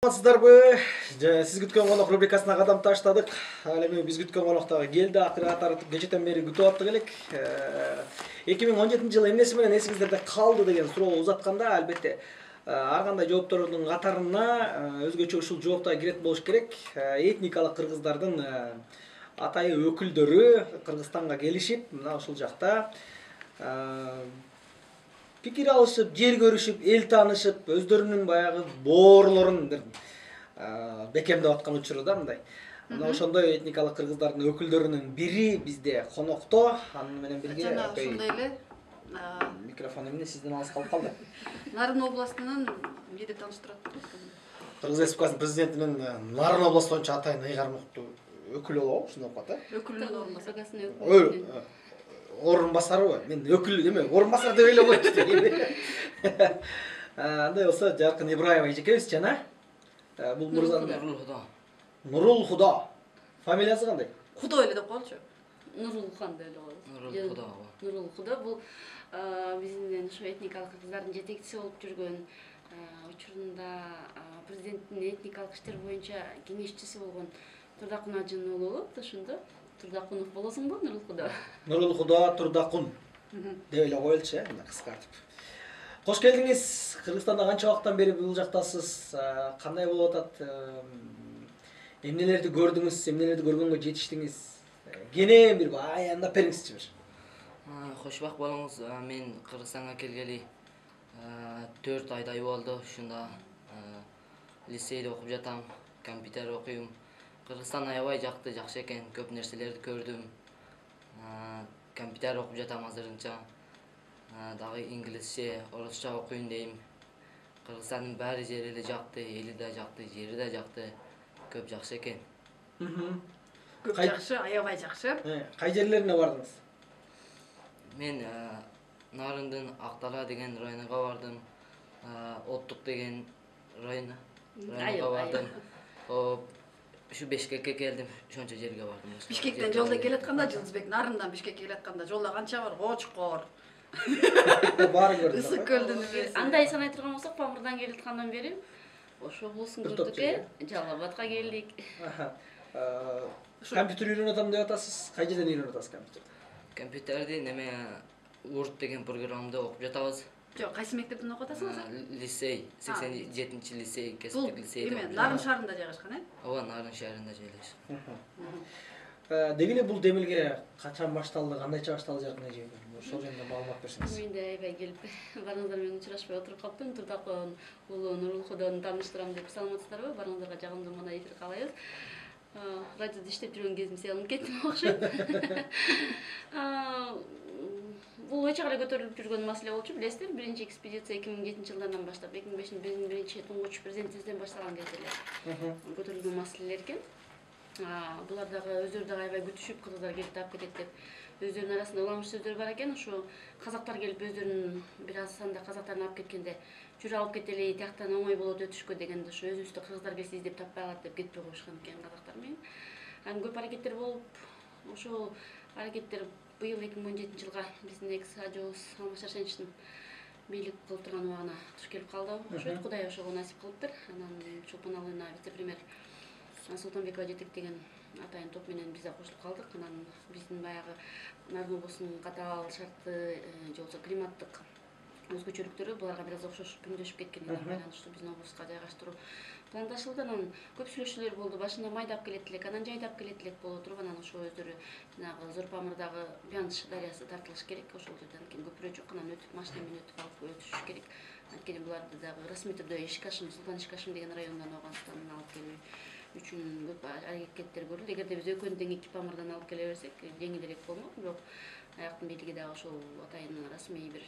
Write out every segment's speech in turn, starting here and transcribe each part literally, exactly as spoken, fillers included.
Саламатсыздарбы? Сиз күткөн конок рубрикасына кадам таштадык. Ал эми биз күткөн конок дагы келди. Акыры катары кечетен бери күтүп аттык элек. эки миң он жетинчи жылы эмнеси менен эсиңиздерде калды деген суроо узатканда, албетте ар кандай жооптордун катарына өзгөчө ушул жооптор кирет болуш керек. Этникалык кыргыздардын атайы өкүлдөрү Кыргызстанга келишип, мына ушул жакта пикир алышып, жер көрүшүп, эл таанышып, өздөрүнүн баягы боорлорун бекемдеп аткан учуру да мындай. Мына ошондой этникалык кыргыздардын өкүлдөрүнүн бири бизде конокто. Аны менен бирге жана ошондой эле микрофон эмне сизден алыс калып калды. Нарын областынан бир тааныштырат. Кыргыз Республикасынын президентинин Нарын областы боюнча атайын ыйгармыктуу өкүлү болобу, ушундай болуп атат, э? Өкүлүнүн орун басары. Орун басарыбы? Мен өкүл эме, орун басар деп эле койчу. Андай болсо Жаркын Ибраева эжекебиз жана бул мырзанын Нурулхуда. Нурулхуда. Фамилиясы кандай? Кудо эле деп коелучу. Нурулхан деп эле коебуз. Нурулхуда. Нурулхуда бул биздин ушу этникалык кыргыздардын жетекчиси болуп жүргөн, учурунда президенттин этникалык иштер боюнча кеңешчиси болгон Турдакун Ажын уулу ошондо. Турдакунов болосуңбу, Нурулхуда? Нурулхуда Турдакун деп эле коелучу, мына кыскартып. Кош келдиңиз. Кыргызстанда канча убакыттан бери бул жактасыз? Кандай болуп атат? Эмнелерди көрдүңүз? Эмнелерди көргөнгө жетиштиңиз? Кенен бир аянтап бериңизчи бир. Кошбак болуңуз. Мен Кыргызстанга келгели төрт айдай болду. Ушунда лицейде окуп жатам, компьютер окуйм. Кыргызстан аябай жакты, жакшы экен. Көп нерселерди көрдүм. Компьютер окуп жатам азырынча. Дагы инглизче, орусча окуйм дейм. Кыргызстандын баары жери эле жакты, эли да жакты, жери да жакты. Көп жакшы экен. Көп жакшы, аябай жакшы. Кай жерлерине бардыңыз? Мен Нарындын Актала деген районуна бардым. Оттук деген районуна бардым. Ушу Бишкекке келдим, ошончо жерге бардым. Бишкектен жолдо келатканда, Жылдызбек Нарындан Бишкекке келатканда жолдо канча бар? Кочкор. Баары көрдүм. Ысык көлдүн эмеси. Андай санай турган болсок, Памырдан келаткандан бери ошо болсун көрдүк э. Жалал Абадка келдик. Компьютер үйрөнүп атам деп атасыз. Кай жерден үйрөнүп атасыз компьютерди? Компьютерди неме Word деген программды окуп жатабыз. Жок, кайсы мектептен окуп атасыңыз? Лицей, сексен жетинчи лицей, кесиптик лицейде. Эме, Нарын шаарында жайгашкан, э? Ооба, Нарын шаарында жайлашкан. Деги эле бул демилге качан башталды, кандайча башталды Жаркын эже? Ошол жөнүндө маалымат берсеңиз. Мен да аябай келип, барыңыздар менен учурашпай отуруп калыптым. Турдакун уулу Нурулхуданы тааныштырам деп саламатсыздарбы? Барыңыздарга жагымдуу мына эфир каалайбыз. Радиодо иштеп жүргөн кезим сыялынып кеттим окшойт. Бул өчө кале көтөрүлүп жүргөн маселе болчу, билесиздер. Биринчи экспедиция эки миң жетинчи жылдан баштап, эки миң бешинчи биринчи туңгуч президентибизден башталган кезде эле көтөрүлгөн маселелер экен. Булар дагы өздөрү дагы аябай күтүшүп, кыргыздар келип таап кетет деп өздөрүнүн арасында уламыш сөздөр бар экен. Ошо казактар келип өздөрүнүн бир аз санда казактарын алып кеткенде, жүрүп алып кетели, тияктан оңой болот өтүшкө дегенде ошо өзүбүздө кыргыздар келсе издеп таппай калат деп кетпей коюшкан экен казактар менен. Анан көп аракеттер болуп, ошол аракеттер быйыл эки миң он жетинчи жылга биздин экс ажообуз Алмаз Шаршеничтин бийлик кылып турган убагына туш келип калды. Ошо Кудай ошого насип кылыптыр. Анан Чолпон Алыйна вице-премьер Султанбекова жетектеген атайын топ менен биз да кошулуп калдык. Анан биздин баягы Нарын облусунун катаал шартты же болбосо климаттык өзгөчөлүктөрү буларга бир аз окшош күндөшүп кеткенине байланыштуу биздин облуска жайгаштыруу пландашылды. Анан көп сүйлөшүүлөр болду. Башында майдап келет элек, анан жайдап келет элек боло туруп, анан ошо өздөрү жанагы Зор Памырдагы Бянш дарыясы тартылыш керек. Ошол жерден кийин көпүрө жок, анан өтүп машина менен өтүп алып өтүш керек. Анткени буларды дагы расмий түрдө Ишкашым, Султан Ишкашым деген районунан Ауганстандан алып келүү үчүн көп аракеттер көрүлдү. Эгерде биз экөөнү тең эки Памырдан алып келе берсек, жеңилирээк болмок, бирок аяктын бийлиги дагы ошол атайын расмий бир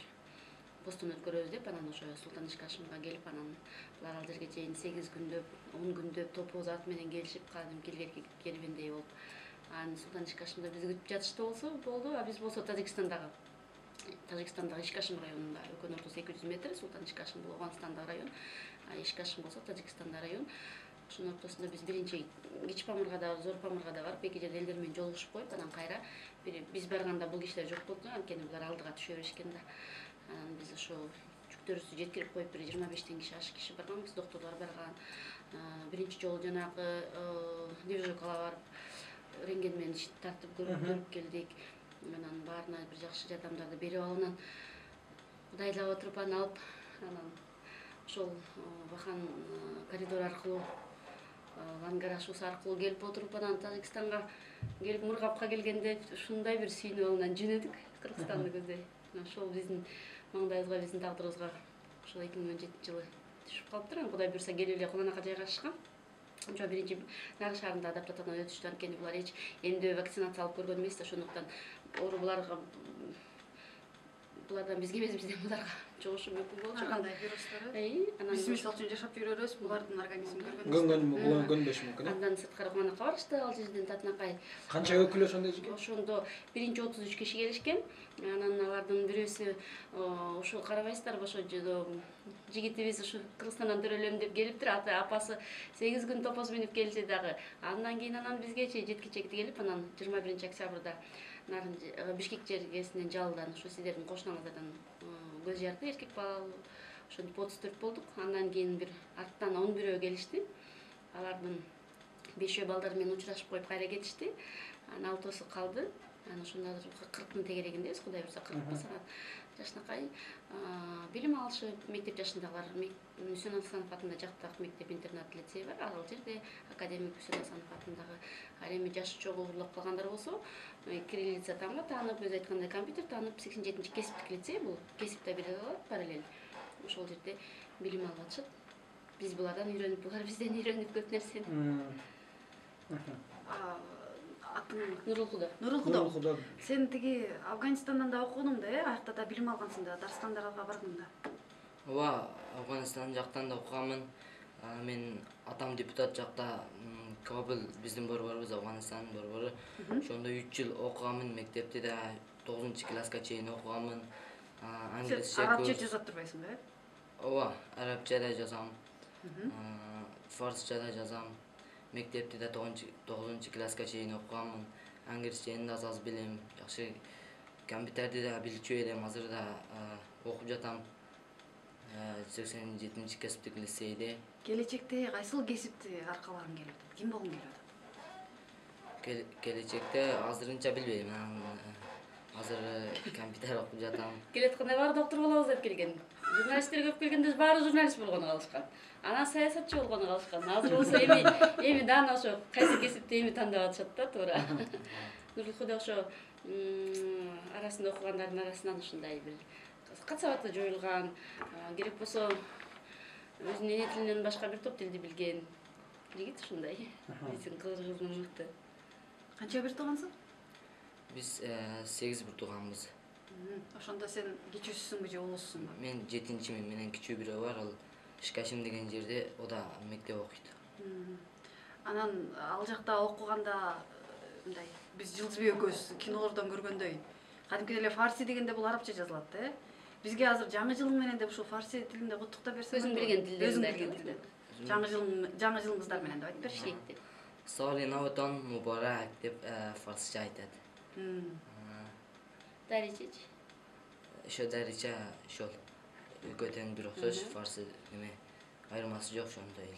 постун өткөрөбүз деп, анан ошо Султан Ишкашымга келип, анан булар ал жерге чейин сегиз күндөп, он күндөп топоз ат менен келишип, кадимки илгерки кербендей болуп, анан Султан Ишкашымда бизди күтүп жатышты болсо болду. А биз болсо Тажикстандагы Тажикстандагы Ишкашым районунда, экөөнүн ортосу эки жүз метр. Султан Ишкашым бул Ауганстандагы район, а Ишкашым болсо Тажикстанда район. Ошонун ортосунда биз биринчи Кичи Памырга да, Зор Памырга да барып, эки жерде элдер менен жолугушуп коюп, анан кайра биз барганда бул кишилер жок болду, анткени булар алдыга түшө беришкен да. Biz şu жүктөрүбүздү жеткирип коюп бир жыйырма бештен киши ашык киши барган, биз докторлор барган, биринчи жолу жанагы дивизиокага барып рентген менен тартып көрүп келдик. Анан баарына бир жакшы жардамдарды берип алып, анан кудайлап отуруп аны алып, анан ошол бахан коридор аркылуу, Лангар ашуусу аркылуу келип отуруп, анан Тажикстанга келип Мургапка келгенде ушундай бир сүйүнүп алып анан жөнөдүк Кыргызстанды көздөй. Ошол биздин маңдайыбызга, биздин тагдырыбызга ошол эки миң он жетинчи жылы түшүп калыптыр. Анан Кудай буйрса келип эле Куланака жайгашкан. Ошо биринчи Нары шаарында адаптациядан өтүштү. Анткени булар эч эмдөө вакцинация алып көргөн эмес да, ошондуктан оору буларга булардан бизге эмес, бизден буларга жугушу мүмкүн болчу. Ар кандай вирустар. Анан Биз мисалы үчүн жашап жүрөбүз, булардын организмин көргөн көнбөшү мүмкүн. Андан сырткары Куланакка барышты, ал жерден Татынакай. Канча өкүл ошондой жеке? Ошондо биринчи отуз үч киши келишкен. Анан алардын бирөөсү ошо карабайсыздарбы, ошо жигитибиз ушу Кыргызстандан төрөлөм деп келиптир. Ата апасы сегиз күн топоз минип келди дагы. Андан кийин анан бизгечи жеткичекти келип, анан жыйырма биринчи октябрда Нарын Бишкек жергесинен жалдан ушу сиздердин кошунаңыздардан көз жарды, эркек бала ошентип отуз төрт болдук. Андан кийин бир арттан он бирөө келишти. Алардын бешөө балдары менен учурашып коюп кайра кетишти. Анан алтоосу калды. Анан ошондо кырктын тегерегиндебиз, Кудай буйрса кырк басат. Жашынакай билим алышып, мектеп жашындагылар Мүсөн Асанов атында жактак мектеп-интернат лицей бар. Ал жерде академик Мүсөн Асанов атындагы, ал эми жашы чогуу урлап калгандар болсо, кириллица тамга таанып, өзү айткандай компьютер таанып, сексен жетинчи кесиптик лицей бул. Кесип да бере алат параллель. Ошол жерде билим алып атышат. Биз булардан үйрөнүп, булар бизден үйрөнүп көп нерсени. Атың Нурулкуда. Нурулкуда. Сен тиги Афганистандан да окудуң да, э? Аякта да билим алгансың да, дарстандарга бардың да. Ооба, Афганистан жактан да окуганмын. Мен атам депутат жакта Кабыл биздин борборубуз, Афганистандын борбору. Ошондо үч жыл окуганмын, мектепте да тогузунчу класска чейин окуганмын. Англисче арабча жазып турбайсың да, э? Ооба, арабча да жазам. Фарсча да жазам. Мектепте да тогузунчу класска чейин окуганмын. Англисчени да аз билем, жакшы компьютерди да билчү элем, азыр да окуп жатам. сексен жетинчи кесиптик лицейде. Келечекте кайсыл кесипти аркалагың келип атат? Ким болгуң келип атат? Келечекте азырынча билбейм. Азыр компьютер окуп жатам. Келетканда баары доктор болобуз деп келген. Журналисттер көп келгенде баары журналист болгону калышкан. Анан саясатчы болгону калышкан. Азыр болсо эми эми дана ошо кайсы кесипти эми тандап атышат да, туура. Нурулкуда ошо арасында окугандардын арасынан ушундай бир кат-сабаты жоюлган, керек болсо өзүнүн эне тилинен башка бир топ тилди билген жигит ушундай. Биздин кыргыздын мыкты. Канча бир туугансың? Биз сегиз бир тууганбыз. Ошондо сен кичүүсүсүңбү же улуусуңбу? Мен жетинчимин, менен кичүү бирөө бар, ал Шкашим деген жерде, о да мектеп окуйт. Анан ал жакта окуганда мындай биз Жылдызбек экөөбүз кинолордон көргөндөй, кадимки эле фарси дегенде бул арабча жазылат да, э? Бизге азыр жаңы жылың менен деп ушул фарси тилинде куттуктап берсең, өзүң билген тилде. Өзүң билген тилде. Жаңы жыл жаңы жылыңыздар менен деп айтып бериши. Сали Наватон Мубарак деп фарсча айтат. Даричеч. Ошо дарича ошол экөөтөн бир окшош, фарсы неме айырмасы жок ошондой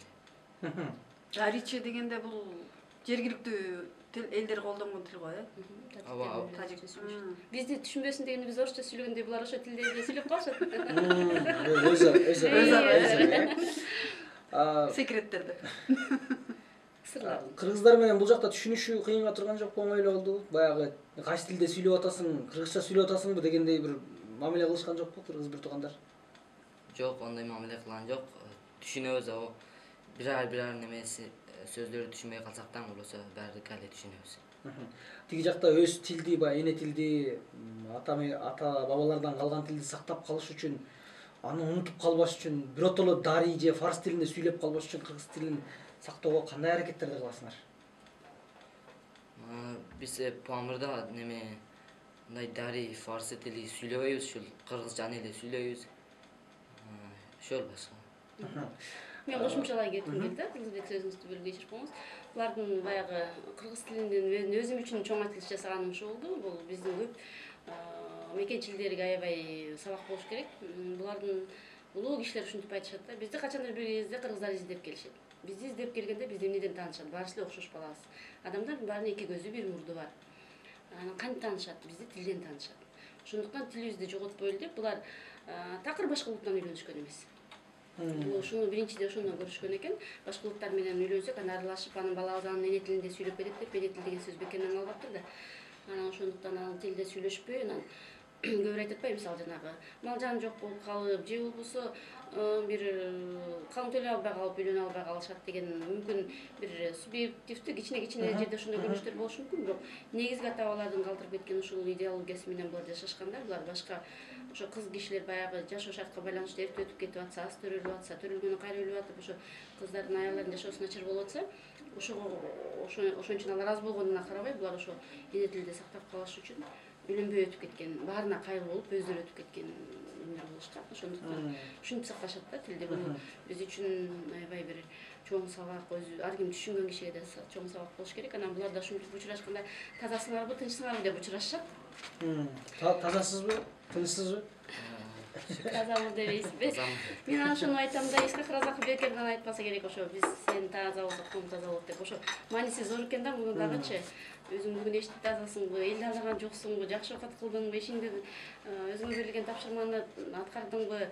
эле. Дариче дегенде бул жергиликтүү тил элдер колдонгон тил го, э? Ооба. Бизди түшүнбөсүн дегенде биз орусча сүйлөгөндө булар ошо тилде эле сүйлөп калышат. Өзү, өзү, өзү. Секреттерди. Кыргыздар менен бул жакта түшүнүшү кыйынга турган жокпу, оңой эле болду? Баягы кайсы тилде сүйлөп атасың, кыргызча сүйлөп атасыңбы дегендей бир мамиле кылышкан жокпу кыргыз бир туугандар? Жок, андай мамиле кылган жок. Түшүнөбүз, бирар бирар немеси сөздөрдү түшүнбөй калсак да, болсо баардык эле түшүнөбүз. Тиги жакта өз тилди, баягы эне тилди, ата ата бабалардан калган тилди сактап калыш үчүн, аны унутуп калбаш үчүн, биротоло дарий же фарс тилинде сүйлөп калбаш үчүн кыргыз тилин сактоого кандай аракеттерди кыласыңар? Биз Памырда неме мындай дарий, фарсы тили сүйлөбөйбүз, ушул кыргызчаны эле сүйлөйбүз. Ошол башка. Мен кошумчалай кетким келди, Кыргызбек сөзүңүздү бөлүп кечирип коюңуз. Булардын баягы кыргыз тилинен өзүм үчүн чоң айтылыш жасаганым ушул болду. Бул биздин көп мекенчилерге аябай сабак болуш керек. Булардын улуу кишилер ушинтип айтышат да. Бизди качандыр бир кезде кыргыздар издеп келишет. бизди издеп келгенде бизди эмнеден таанышат? Баарыбыз эле окшош балабыз. Адамдардын баарынын эки көзү, бир мурду бар. Анан кантип таанышат? Бизди тилден таанышат. Ошондуктан тилибизди жоготпойлу деп булар такыр башка улуттан үйлөнүшкөн эмес. Ушуну биринчиде ошондон көрүшкөн экен. Башка улуттар менен үйлөнсөк, анан аралашып, анын балабыз анын эне тилинде сүйлөп берет деп, эне тил деген сөз бекеринен албаптыр да. Анан ошондуктан анын тилде сүйлөшпөй, анан көбүр айтып атпайбы, мисалы жанагы мал жан жок болуп калып, же болбосо бир калың төлөй албай калып үйлөнө албай калышат деген мүмкүн бир субъективдүү кичине-кичине жерде ошондой көрүнүштөр болушу мүмкүн, бирок негизги ата-бабалардын калтырып кеткен ушул идеологиясы менен булар жашашкандар. Булар башка ошо кыз кишилер баягы жашоо шартка байланыштуу эрте өтүп кетип атса, аз төрөлүп атса, төрөлгөнү кайра өлүп атып, ошо кыздардын аялдардын жашоосу начар болуп атса, ошого ошон үчүн алар аз болгонуна карабай, булар ошо эне тилди сактап калыш үчүн үйлөнбөй өтүп кеткен, баарына кайрылуу болуп, өздөрү өтүп кеткен өмүр болушкан. Ошондуктан ушинтип сакташат да тилди. Бул биз үчүн аябай бир чоң сабак, өзү ар ким түшүнгөн кишиге да чоң сабак болуш керек. Анан булар да ушинтип учурашканда тазасыңарбы, тынчсыңарбы деп учурашышат. Тазасызбы, тынчсызбы? Тазамын дебейсизби? Мен ошону айтам да, Исхак Разаков бекерден айтпаса керек, ошо биз сен таза болсок, ком таза болот деп. Ошо мааниси зор экен да муну дагычы. Өзүң бүгүн эчтип тазасыңбы, элди алдаган жоксуңбу, жакшы оокат кылдыңбы, ишиңди өзүңө берилген тапшырманы аткардыңбы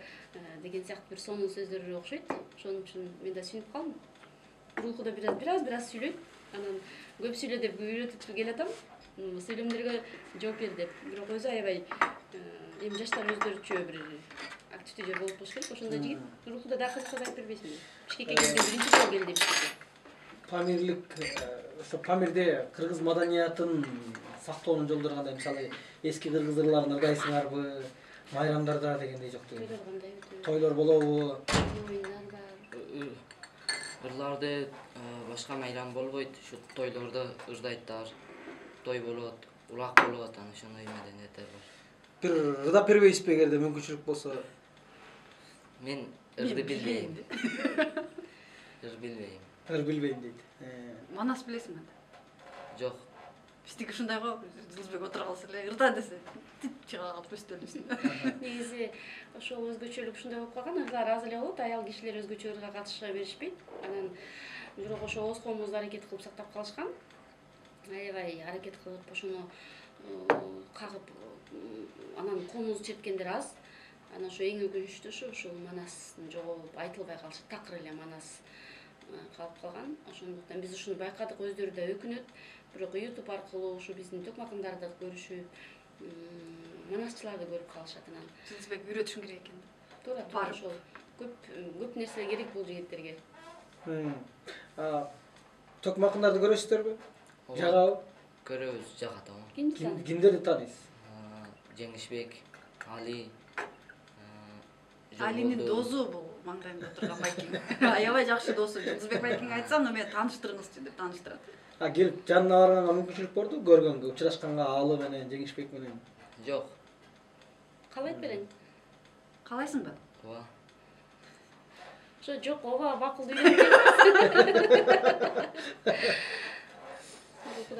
деген сыяктуу бир сонун сөздөр окшойт. Ошон үчүн мен да сүнүп калдым. Руху да бир аз бир аз бир аз сүйлөйт. Анан көп сүйлө деп үйрөтүп келатам. Сүйлөмдөргө жооп бер деп. Бирок өзү аябай эми жаштар өздөрүчө бир активдүү жер болуп болуш керек. Ошондой жигит. Руху да дагы кызыкса айтып бербейсиңби? Бишкекке келген биринчи жолу келди Бишкекке. Памирлик, ошо Памирде кыргыз маданиятын сактоонун жолдору кандай? Мисалы, эски кыргыз ырларын ыргайсыңарбы, майрамдарда дегендей жок деген. Тойлор кандай? Тойлор болобу? Оюндар бар. Ырларды башка майрам болбойт, ушу тойлордо ырдайттар. Той болот, улак болот, анан ошондой маданияттар бар. Бир ырдап бербейсизби эгерде мүмкүнчүлүк болсо? Мен ырды билбейм. Ыр билбейм. Ыр билбейм дейт. Манас билесиңби? Жок. Биздики ушундай го, Жылдызбек отура калса эле ырда десе, тип чыга калып өстөлүбүз. Негизи ошол өзгөчөлүк ушундай болуп калган, ырлар аз эле болот, аял кишилер өзгөчө ырга катыша беришпейт. Анан бирок ошо ооз коомубуз аракет кылып сактап калышкан. Аябай аракет кылып ошону кагып, анан коомубузду чепкендер аз. Анан ошо эң өкүнүчтүүсү ушул Манастын жогоп айтылбай калышы, такыр эле Манас калып калган. Ошондуктан биз ушуну байкадык, өздөрү да өкүнөт. Бирок YouTube аркылуу ушу биздин төкмакындарды көрүшүп, манасчыларды көрүп калышат. Анан Жылдызбек үйрөтүшүң керек экен. туура туура ошол көп көп нерсе керек бул жигиттерге. Төкмакындарды көрөсүздөрбү? Жагабы? Көрөбүз, жагат ага. Кимдерди тааныйсыз? Жеңишбек, Али. Алинин досу бул маңдайында отурган байкең. Аябай жакшы досу. Жылдызбек байкең айтсам, мени тааныштырыңызчы деп тааныштырат. А келип жанына барганга мүмкүнчүлүк борду, көргөнгө, учурашканга Алы менен, Жеңишбек менен? Жок. Калай айтып берейин? Каалайсыңбы? Ооба. Ошо жок, ооба макулду үйрөнүп.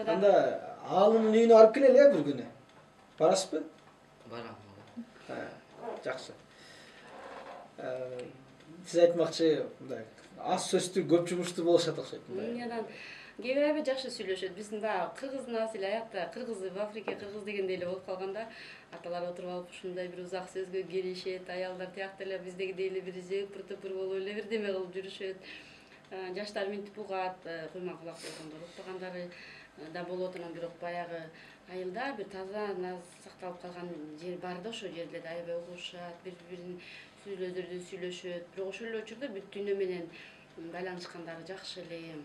Анда Алынын үйүнө алып келели бир күнү. Барасызбы? Барам. Жакшы. Сиз айтмакчы, мындай аз сөздүү, көп жумуштуу болушат окшойт. Анан кээ бир аябай жакшы сүйлөшөт. Биздин баягы кыргыздын асили аякта, кыргыз в Африка кыргыз дегендей эле болуп калганда, аталар отуруп алып ушундай бир узак сөзгө киришет, аялдар тиякта эле биздегидей эле бир жыпыр-тыпыр болуп эле бирдеме кылып жүрүшөт. Жаштар минтип угат, куйман кулак болгондор укпагандары да болот. Анан бирок баягы айылда бир таза наз сакталып калган жер бар да, ошол жерлерде аябай угушат, бири-бирин сүйлөздөрдү сүйлөшөт. Бирок ошол эле учурда бүт дүйнө менен байланышкандары жакшы эле.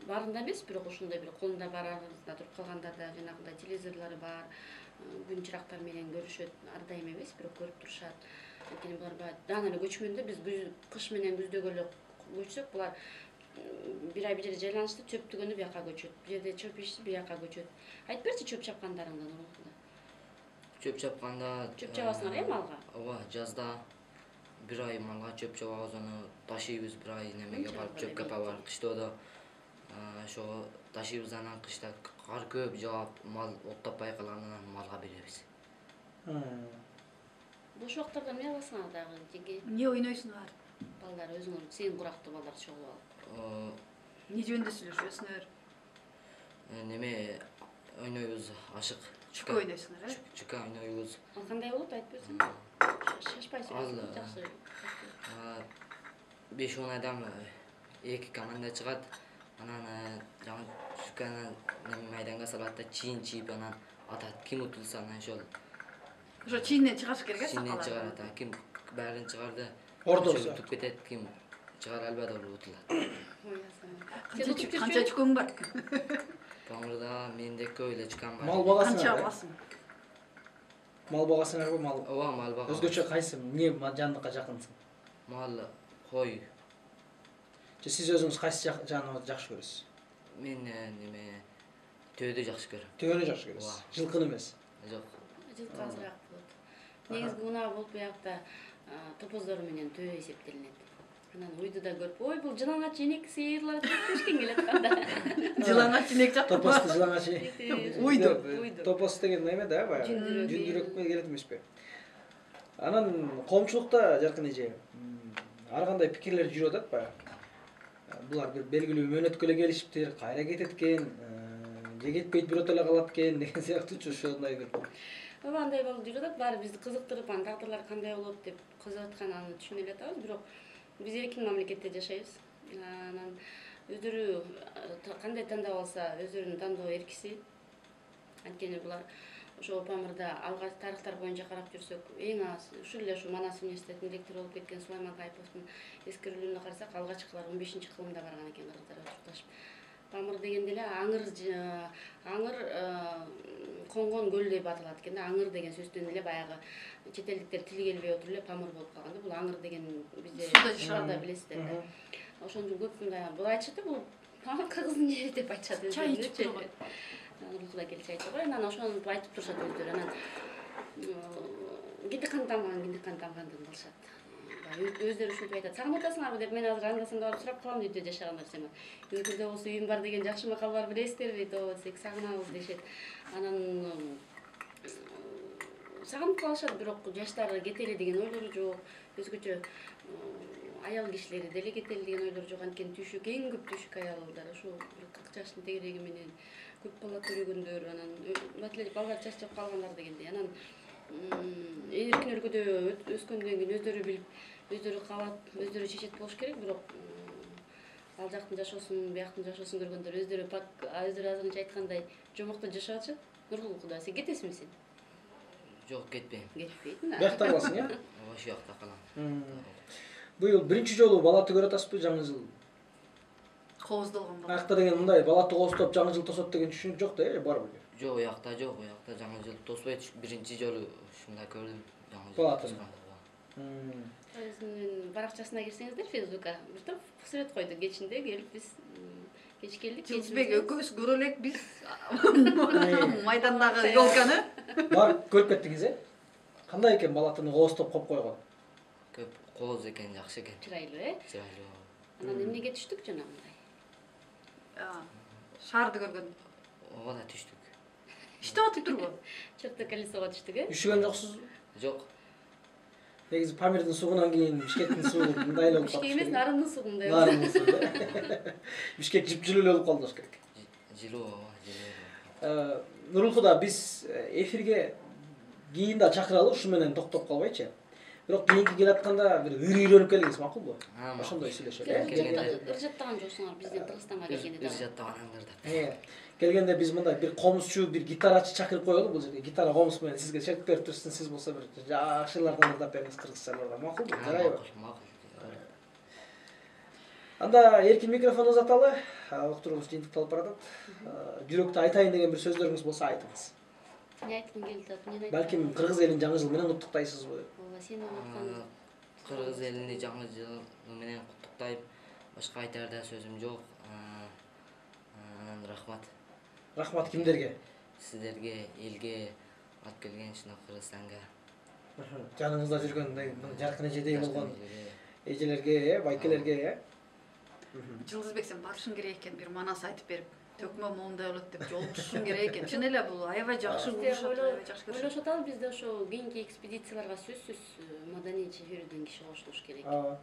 Баарында эмес, бирок ошондой бир колунда бар арасында туруп калгандар да жанагындай телевизорлору бар, күн чырактар менен көрүшөт. Ар дайым эмес, бирок көрүп турушат. Анткени булар баягы даана эле көчмөндө, биз кыш менен күздөгө эле көчсөк, булар бир ай бир жерде жайланышты, чөп түгөнү бияка көчөт. Бир жерде чөп ишти, бияка көчөт. Айтып берчи чөп чапкандарыңдан урматында. Чөп чапканда чөп чабасыңар э малга? Ооба, жазда бир ай малга чөп чабабыз, аны ташыйбыз, бир ай немеге барып чөпкө барып, кыштоодо ошого ташыйбыз, анан кышта кар көп жаап, мал оттоппай калганынан малга беребиз. Бош убактарда эмне кыласыңар дагы? Жеге Эмне ойнойсуңар? балдар өзүңөр сен курактуу балдар чогуу алып. Эмне жөнүндө сүйлөшөсүңөр? Неме ойнойбуз, ашык. Чүкө ойнойсуңар, э? Чүкө ойнойбуз. Ал кандай болот айтып берсең? Шашпай сүйлөшүң, жакшы. беш он адам эки команда чыгат. Анан жаңы чүкөнү майданга салат да чийин чийип анан атат. Ким утулса анан ошол. Ошо чийинден чыгаш керек, э, Чийинден сакалар. чыгарат. Ким баарын чыгарды. Ордосу. Утуп кетет, ким чыгара албады ол утулат. Канча чүкөң бар? Камырда менде көп эле чыккан бар. Мал Канча багасыңар? аласың? Мал багасыңарбы, мал? Ооба, мал бага. Өзгөчө кайсы? Эмне жандыкка жакынсың? Мал, кой. Же сиз өзүңүз кайсы жаныбарды жакшы көрөсүз? Мен неме төөдү жакшы көрөм. Төөнү жакшы көрөсүз. Жылкыны эмес. Жок. Жылкы азыраак болот. Негизги унаа болуп буякта топоздор менен төө эсептелинет. Анан уйду да көрүп, ой бул жылаңач инек сыйырлар тешкен келет канда. Жылаңач инек жактырбы? Топосту жылаңачы. Уйду. Топос деген эме да, баягы. Жүндүрөк. Жүндүрөккө келет эмеспи? Анан коомчулукта жаркын эже ар кандай пикирлер жүрүп атат баягы. Булар бир белгилүү мөөнөткө эле келишиптир, кайра кетет экен, же кетпейт бирөөтө эле калат экен деген сыяктуучу ошондой бир. Ооба андай болуп жүрүп атат, баары бизди кызыктырып, анан тагдырлар кандай болот деп кызыгып атканын түшүнө эле атабыз, бирок биз эркин мамлекетте жашайбыз. Анан өздөрү кандай тандап алса, өздөрүнүн тандоо эркиси. Анткени булар ошо Памырда алгач тарыхтар боюнча карап жүрсөк, эң аз ушул эле ушу Манас университетинин ректору болуп кеткен Сулайман Кайповдун эскерилүүнү карасак, алгачкылар он бешинчи кылымда барган экен кыргыздар отурташып. Памыр дегенде эле аңыр аңыр конгон көл деп аталат экен да. Аңыр деген сөздөн эле баягы чет элдиктер тили келбей отуруп эле Памыр болуп калган да. Бул аңыр деген бизде шаарда билесиздер да. Ошондон көп мындай бул айтышат да, бул Памыр кыргыздын жери деп айтышат. Чай ичип турган. Улукуда келип чай ичип, анан ошону айтып турушат өздөрү. Анан кинди кан тамган, кинди кан тамгандын кылышат. Өздөрү ушинтип айтат. Сагынып атасыңарбы деп мен азыр анда-санда барып сурап калам үйдө жашагандар сема. Үйдө болсо үйүм бар деген жакшы макал бар, билесиздерби? Тоо десек сагынабыз дешет. Анан сагынып калышат, бирок жаштары кетели деген ойлору жок. Өзгөчө аял кишилери деле кетели деген ойлору жок. Анткени түйшүк эң көп түйшүк аялдар ошо кырк жаштын тегереги менен көп бала көргөндөр, анан маселе балдар чачып калгандар дегендей. Анан эркин өлкөдө өскөндөн кийин өздөрү билип, өздөрү каалап, өздөрү чечет болуш керек, бирок ал жактын жашоосун, бияктын жашоосун көргөндөр өздөрү пак өздөрү азырынча айткандай жомокто жашап атышат. Нургул Куда, сен кетесиңби сен? Жок, кетпейм. Кетпейт. Биякта каласың, э? Ооба, ошол жакта калам. Быйыл биринчи жолу балаты көрүп атасызбы жаңы жыл? Кооздолгон бала. Аякта деген мындай балаты кооздоп жаңы жыл тосот деген түшүнүк жок да, э, барбы? Жок, уякта жок, уякта жаңы жыл тоспойт. Биринчи жолу ушундай көрдүм жаңы жыл. Балатын. Өзүнүн баракчасына кирсеңиздер, Фейсбукка бир топ сүрөт койду. Кечинде келип биз кеч келдик. Жылдызбек экөөбүз көрө элек биз майдандагы ёлканы. Бар көрүп кеттиңиз, э? Кандай экен балатыны кооздоп коюп койгон? Көп кооз экен, жакшы экен. Чырайлуу, э? Чырайлуу. Анан эмнеге түштүк жана мындай? Шаарды көргөн. Ооба да түштүк. Иштеп атып турбу? Чөптө колесого түштүк, э? Üşүгөн жоксузбу? Жок. Негизи Памирдин суунан кийин Бишкектин суу мындай эле болуп калды. Бишкек эмес, Нарындын суундай. Нарындын суу. Бишкек жыпжылуу эле болуп калды болуш керек. Жылуу, ооба, жылуу. Нургул Куда, биз эфирге кийин да чакыралы, ушу менен токтоп калбайчы. Бирок кийинки келатканда бир ыр-ыйрөнүп келиңиз, макулбу? Ошондой сүйлөшөлү. Ыржаттаган жоксуңар бизден Кыргызстанга келгенде. Ыржаттагандар да. Э, келгенде биз мындай бир комузчу, бир гитарачы чакырып коелу, бул жерге гитара комуз менен сизге шерт берип турсын, сиз болсо бир жакшылардан ырдап бериңиз кыргызчалардан, макулбу? Жарайбы? Макул. Анда эркин микрофон узаталы, уктуруубуз жыйынтыкталып баратат. Жүрөктү айтайын деген бир сөздөрүңүз болсо айтыңыз. Не айткың келип атат? Эмне айткың? Балким кыргыз элин жаңы жыл менен куттуктайсызбы? Ооба, сен аткан. Кыргыз элини жаңы жыл менен куттуктайм. Башка айтар да сөзүм жок. Анан рахмат. Рахмат кимдерге? Сиздерге, элге, алып келген ушуна Кыргызстанга. Жаныңызда жүргөн жаркын эжедей болгон эжелерге, байкелерге, э? Жылдызбек, сен барышың керек экен, бир манас айтып берип, төкмө моундай болот деп жолугушуң керек экен. Чын эле бул аябай жакшы болушат, аябай жакшы көрүшөт. Ойлошот ал бизде ошо кийинки экспедицияларга сөзсүз маданий чечүүрдөн киши кошулуш керек. Ооба.